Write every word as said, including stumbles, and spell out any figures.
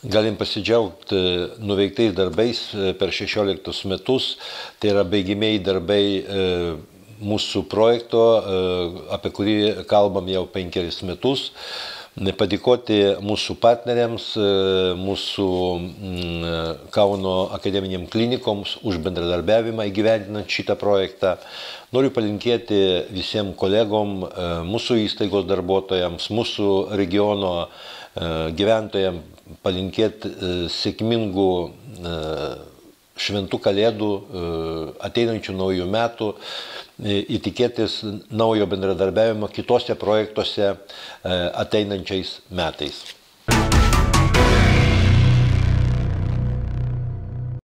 Galim pasidžiaugti nuveiktais darbais per šešioliktus metus, tai yra baigimieji darbai mūsų projekto, apie kurį kalbam jau penkeris metus. Padėkoti mūsų partneriams, mūsų Kauno akademiniam klinikoms už bendradarbiavimą įgyvendinant šitą projektą. Noriu palinkėti visiems kolegom, mūsų įstaigos darbuotojams, mūsų regiono gyventojams, palinkėti sėkmingų šventų kalėdų, ateinančių naujų metų, įtikėtis naujo bendradarbiavimo kitose projektuose ateinančiais metais.